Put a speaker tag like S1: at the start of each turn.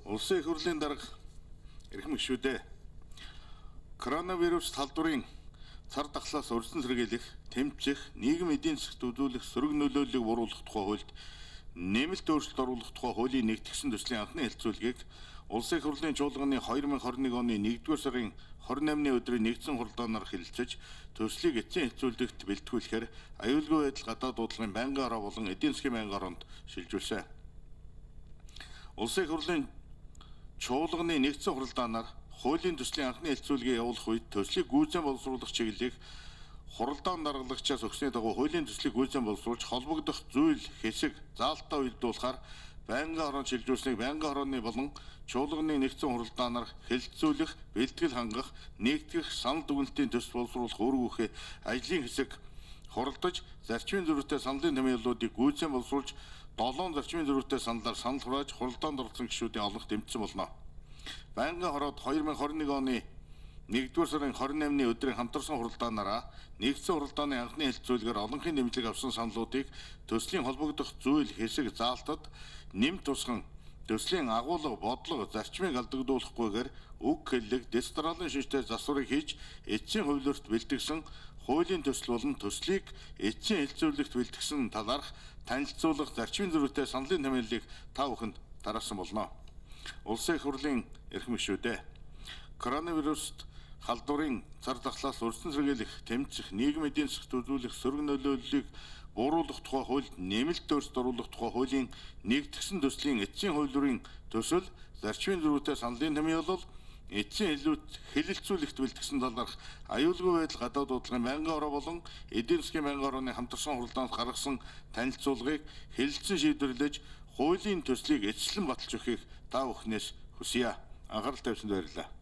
S1: Улсын их хурлын дарга эрхэм гишүүдээ коронавирус талдварын цар тахлаас урьдчилан сэргийлэх, тэмцэх, нийгэм эдийн засагт үзүүлэх сөрөг нөлөөллийг бууруулах тухай хуульд нэмэлт өөрчлөлт оруулах тухай хуулийн нэгтгэсэн төслийн анхны хэлэлцүүлгийг Улсын их хурлын чуулганы 2021 оны 1-р сарын 28-ны өдрийн нэгдсэн хурлаанаар хэлэлцэж, төслийг эцсийн хэлэлцүүлэгт бэлтгүүлэхээр аюулгүй байдал гадаад дуудлагын байнгын ороо болон эдийн засгийн байнгын ороонд шилжүүлсэн. Улсын их хурлын чуулганы нэгдсэн хурлаанаар хуулийн төслийн анхны хэлэлцүүлгээ явуулах үед төслийг гүйцэн боловсруулах чиглэлийг хуралдаан даргалагчаас өгсөний дагуу хуулийн төслийг гүйцэн боловсруулж холбогдох зүйл хэсэг заалтаа уйлдуулахаар байнгын хороонд шилжүүлсэнийг байнгын хорооны болон чуулганы нэгдсэн хурлаанаар хэлэлцүүлэх, бэлтгэл хангах, нэгтгэх, санал дүгнэлтийн төсөл боловсруулах үүргүүхээ ажлын хэсэг хуралдаж зарчмын зөрүүтэй саналын томьёолуудыг гүйцэн боловсруулж 7 зарчмын зөрүүтэй саналаар санал хурааж хуралдаанд орсон гишүүдийн олонх дэмжсэн болно. Байнгын хороод 2021 оны 1-р сарын 28-ны өдрийн хамтарсан хурлаанаараа нэгдсэн хурлааны анхны хэлэлцүүлгээр олонхын дэмжлэг авсан саналуудыг төслийн холбогдох зүйл хэсэг заалтад нэмт тусган төслийн агуулга бодлого зарчмыг алдагдуулахгүйгээр үг хэллэг дистралийн шинжтэй засварыг хийж эцсийн хувилбарт бэлтгэсэн хуулийн төсөл болон төслийг эцсийн хэлэлцүүлэгт бэлтгэсэн талаарх танилцуулах зарчмын зөрүүтэй саналын томьёолыг та бүхэнд тараасан болно. Улсын их хурлын эрхэм гишүүдээ коронавируст халдварын цар тахлаас урьдчилан сэргийлэх, тэмцэх, нийгэм эдийн засагт үзүүлэх сөрөг нөлөөллийг бууруулах тухай хуульд нэмэлт өөрчлөлт оруулах тухай хуулийн нэгтгэсэн төслийн эцсийн хувилбарын төсөл, зарчмын зөрүүтэй саналын томьёолол, эцсийн хэлэлцүүлэгт бэлтгэсэн талаарх аюулгүй байдал гадаад дуудлагын байнгын ороо болон эдийн засгийн байнгын орооны хамтарсан хурлаанд гаргасан танилцуулгыг хэлэлцэн шийдвэрлэж хуулийн төслийг эцэслэн баталж өгөхийг та бүхнээс хүсье. Анхаарал тавьсанд баярлалаа.